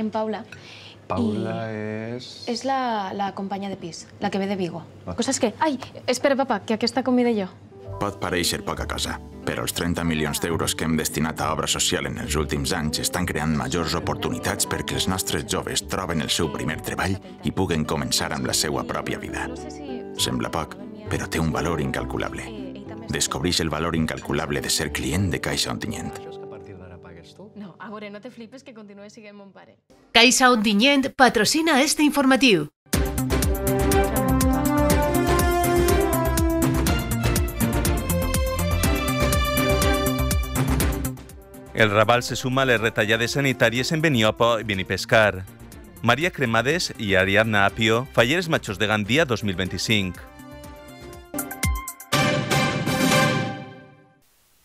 en Paula. Paula és... És la companya de pis, la que ve de Vigo. Cosa és que... Ai, espera, papa, que aquesta convida jo. Pot parèixer poca cosa, però els 30 milions d'euros que hem destinat a obra social en els últims anys estan creant majors oportunitats perquè els nostres joves troben el seu primer treball i puguen començar amb la seva pròpia vida. Sembla poc, però té un valor incalculable. Descobreix el valor incalculable de ser client de Caixa Ontinyent. No, a veure, no te flipes que continues siguent mon pare. Caixa Ontinyent patrocina este informatiu. El Raval se suma a les retallades sanitàries en Beniopo i Benipescar. Maria Cremades i Ariadna Apio, falleres majors de Gandia 2025.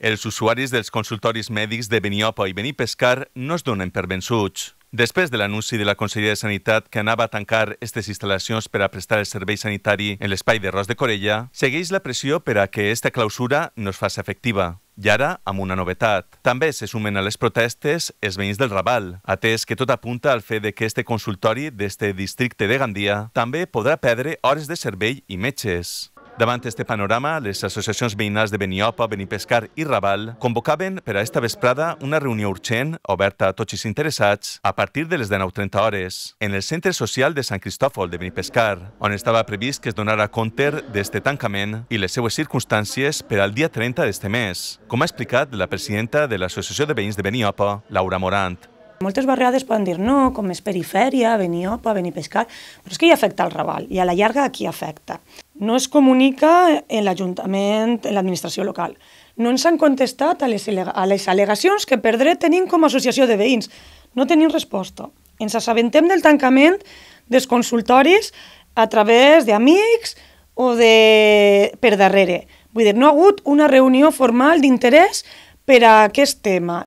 Els usuaris dels consultoris mèdics de Beniopo i Benipescar no es donen per vençuts. Després de l'anunci de la Conselleria de Sanitat que anava a tancar aquestes instal·lacions per a prestar el servei sanitari en l'espai de Ros de Corella, segueix la pressió per a que aquesta clausura no es faci efectiva. I ara, amb una novetat. També se sumen a les protestes els veïns del Raval, atès que tot apunta al fet que este consultori d'este districte de Gandia també podrà perdre hores de servei i metges. Davant este panorama, les associacions veïnals de Beniopo, Benipescar i Raval convocaven per a esta vesprada una reunió urgent, oberta a tots els interessats, a partir de les 19:30 hores, en el Centre Social de Sant Cristòfol de Benipescar, on estava previst que es donara compte d'este tancament i les seues circumstàncies per al dia 30 d'este mes, com ha explicat la presidenta de l'Associació de Veïns de Beniopo, Laura Morant. Moltes vegades poden dir no, com és perifèria, Beniopo, Benipescar, però és que hi afecta el Raval i a la llarga a qui afecta. No es comunica en l'Ajuntament, en l'administració local. No ens han contestat a les al·legacions que per dret tenim com a associació de veïns. No tenim resposta. Ens assabentem del tancament dels consultoris a través d'amics o per darrere. Vull dir, no ha hagut una reunió formal d'interès per a aquest tema.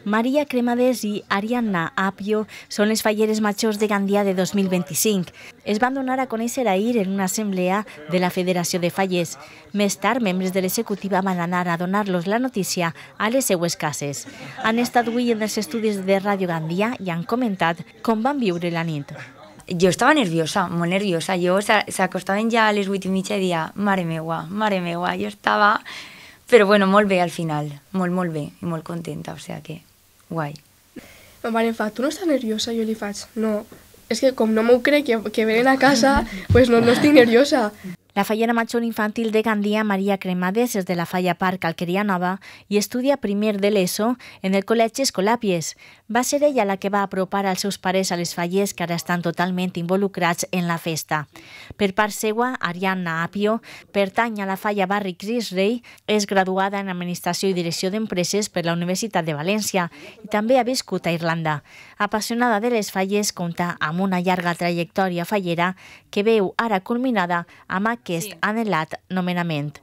Maria Cremades i Ariadna Apio són les falleres majors de Gandia de 2025. Es van donar a conèixer ahir en una assemblea de la Federació de Fallers. Més tard, membres de l'executiva van anar a donar-los la notícia a les seues cases. Han estat avui en els estudis de Ràdio Gandia i han comentat com van viure la nit. Jo estava nerviosa, molt nerviosa. Jo s'acostaven ja a les 8:30 i dia, mare meua, jo estava... Però bueno, molt bé al final, molt bé i molt contenta, o sigui que guai. Ma mare em fa, tu no estàs nerviosa? Jo li faig, no, és que com no m'ho crec que venen a casa, pues no estic nerviosa. La fallera major infantil de Gandia, Maria Cremades, és de la Falla Parc Alqueria Nova i estudia primer de l'ESO en el Col·legi Escolàpies. Va ser ella la que va apropar als seus pares a les fallers que ara estan totalment involucrats en la festa. Per part seua, Ariadna Apio pertany a la Falla Barri Cris Rei, és graduada en Administració i Direcció d'Empreses per la Universitat de València i també ha viscut a Irlanda. Apassionada de les falles, compta amb una llarga trajectòria fallera que veu ara culminada amb aquest anhelat nomenament.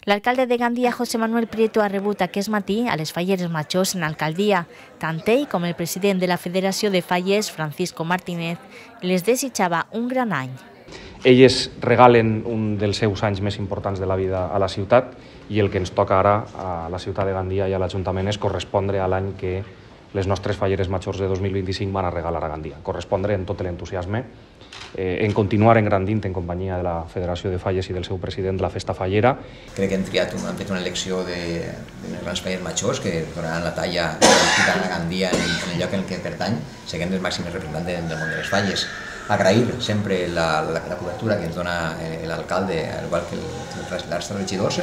L'alcalde de Gandia, José Manuel Prieto, ha rebut aquest matí a les falleres majors en alcaldia. Tant ell com el president de la Federació de Fallers, Francisco Martínez, les desitjava un gran any. Elles regalen un dels seus anys més importants de la vida a la ciutat i el que ens toca ara a la ciutat de Gandia i a l'Ajuntament és correspondre a l'any que les nostres falleres majors de 2025 van a regalar a Gandia. Correspondre en tot l'entusiasme, en continuar engrandint en companyia de la Federació de Falles i del seu president la festa fallera. Crec que han fet una elecció de grans falleres majors que donaran la talla a Gandia en el lloc en què pertany, seguint els màxims representants del món de les falles. Agrair sempre la cobertura que ens dona l'alcalde, al igual que els regidors,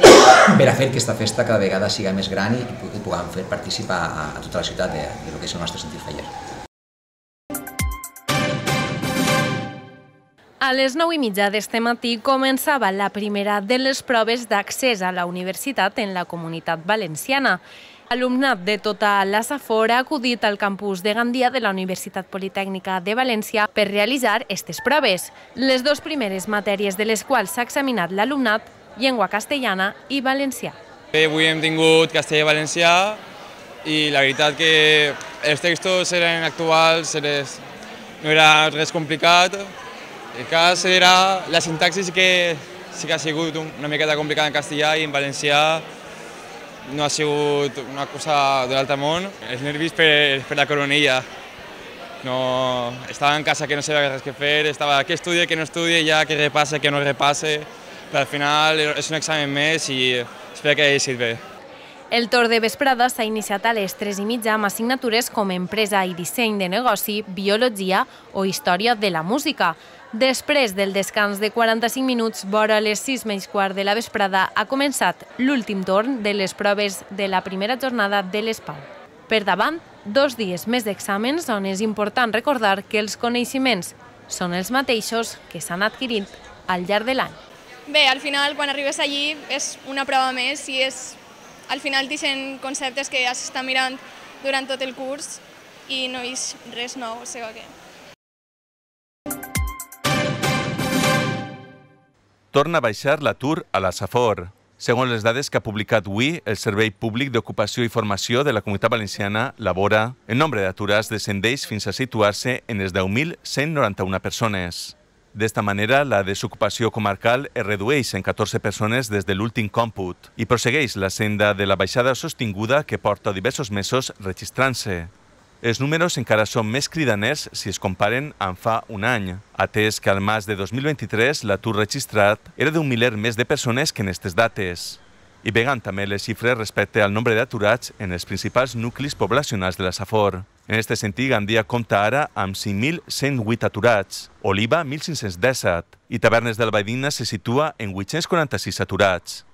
per a fer que aquesta festa cada vegada siga més gran i que puguem fer participar a tota la ciutat del que és el nostre sentit faller. A les 9:30 d'este matí començava la primera de les proves d'accés a la universitat en la Comunitat Valenciana. Alumnat de tota la Safor ha acudit al campus de Gandia de la Universitat Politècnica de València per realitzar aquestes proves. Les dues primeres matèries de les quals s'ha examinat l'alumnat, llengua castellana i valencià. Avui hem tingut castellà i valencià i la veritat que els textos eren actuals, no era res complicat. El cas era la sintaxi sí que ha sigut una miqueta complicada en castellà i en valencià no ha sigut una cosa de l'altre món. Els nervis per la coronilla. No, estava en casa que no sabia res què fer, estava que estudie, que no estudie, ja que repasse, que no repasse, però al final és un examen més i espero que hagi sigut bé. El torn de vesprada s'ha iniciat a les 3:30 amb assignatures com Empresa i Disseny de Negoci, Biologia o Història de la Música. Després del descans de 45 minuts, vora les 6:15 de la vesprada, ha començat l'últim torn de les proves de la primera jornada de l'ESPAU. Per davant, 2 dies més d'exàmens on és important recordar que els coneixements són els mateixos que s'han adquirit al llarg de l'any. Bé, al final, quan arribes allí, és una prova més i al final t'ixen conceptes que has estat mirant durant tot el curs i no és res nou, o sigui que... Torna a baixar l'atur a la Safor. Segons les dades que ha publicat avui el Servei Públic d'Ocupació i Formació de la Comunitat Valenciana, Labora, el nombre d'aturats descendeix fins a situar-se en les 10.191 persones. D'esta manera, la desocupació comarcal es redueix en 14 persones des de l'últim còmput i prossegueix la senda de la baixada sostinguda que porta diversos mesos registrant-se. Els números encara són més cridaners si es comparen amb fa un any, atès que al març de 2023 l'atur registrat era d'un miler més de persones que en aquestes dates. I vegant també les xifres respecte al nombre d'aturats en els principals nuclis poblacionals de la Safor. En aquest sentit, Gandia compta ara amb 5.108 aturats, Oliva 1.517 i Tavernes del Baidina se situa en 846 aturats.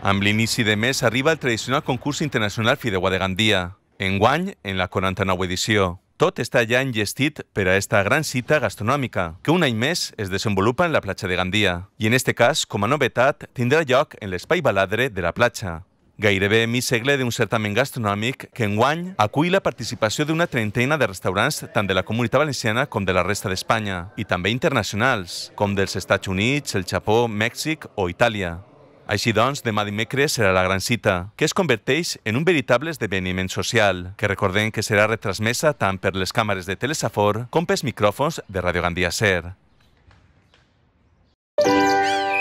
Amb l'inici de mes arriba el tradicional concurs internacional Fideuà de Gandia, enguany en la 49 edició. Tot està ja enllestit per a esta gran cita gastronòmica, que un any més es desenvolupa en la platja de Gandia. I en este cas, com a novetat, tindrà lloc en l'espai baladre de la platja. Gairebé mig segle d'un certamen gastronòmic que enguany acull la participació d'una trentena de restaurants tant de la Comunitat Valenciana com de la resta d'Espanya, i també internacionals, com dels Estats Units, el Japó, Mèxic o Itàlia. Així doncs, demà dimecres serà la gran cita, que es converteix en un veritable esdeveniment social, que recordem que serà retransmesa tant per les càmeres de Telesafor com pels micròfons de Radio Gandia Ser.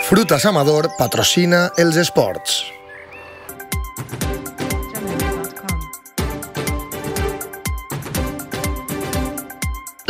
Frutas Amador patrocina els esports.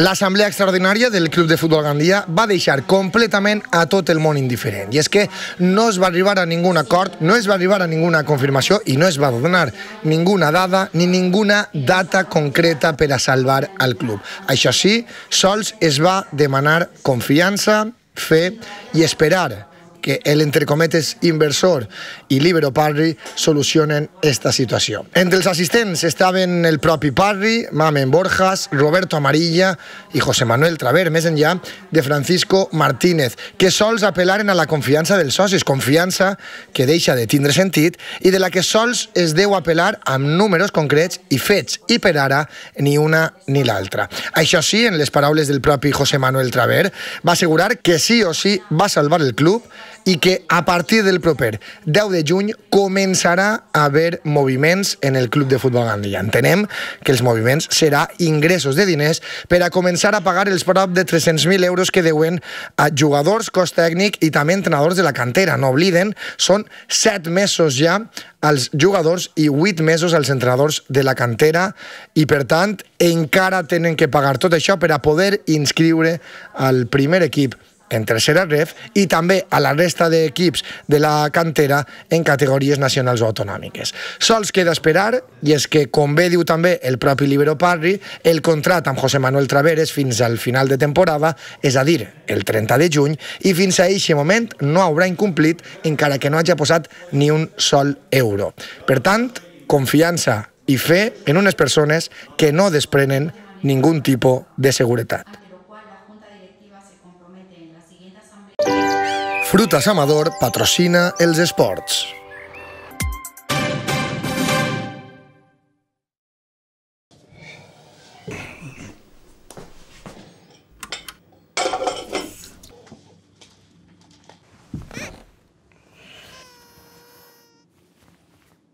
L'assemblea extraordinària del Club de Futbol Gandia va deixar completament a tot el món indiferent. I és que no es va arribar a ningun acord, no es va arribar a ninguna confirmació i no es va donar ninguna dada ni ninguna data concreta per a salvar al club. Això sí, sols es va demanar confiança, fe i esperar que el, entre cometes, inversor i Libero Parri solucionen esta situació. Entre els assistents estaven el propi Parri, Mamen Borjas, Roberto Amarilla i José Manuel Traver, més enllà de Francisco Martínez, que sols apel·laren a la confiança dels socis, confiança que deixa de tindre sentit i de la que sols es deu apel·lar amb números concrets i fets, i per ara ni una ni l'altra. Això sí, en les paraules del propi José Manuel Traver, va assegurar que sí o sí va salvar el club i que a partir del proper 10 de juny començarà a haver moviments en el Club de Futbol Gandia. Entenem que els moviments serà ingressos de diners per a començar a pagar els prop de 300.000 euros que deuen a jugadors, cos tècnic i també entrenadors de la cantera. No obliden, són 7 mesos ja als jugadors i 8 mesos als entrenadors de la cantera i, per tant, encara tenen que pagar tot això per a poder inscriure al primer equip en tercera ref i també a la resta d'equips de la cantera en categories nacionals o autonòmiques. Sols queda esperar, i és que, com bé diu també el propi Libero Parri, el contracte amb José Manuel Traveres fins al final de temporada, és a dir, el 30 de juny, i fins a aquest moment no haurà incomplit encara que no hagi posat ni un sol euro. Per tant, confiança i fe en unes persones que no desprenen ningun tipus de seguretat. Frutas Amador patrocina els esports.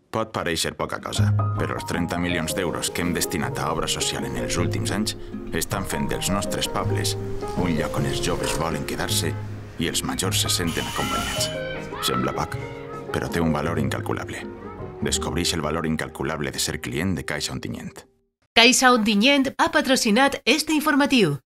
Pot parèixer poca cosa, però els 30 milions d'euros que hem destinat a obra social en els últims anys estan fent dels nostres pobles un lloc on els joves volen quedar-se i els majors se senten acompanyats. Sembla poc, però té un valor incalculable. Descobreix el valor incalculable de ser client de Caixa Ontinyent. Caixa Ontinyent ha patrocinat este informatiu.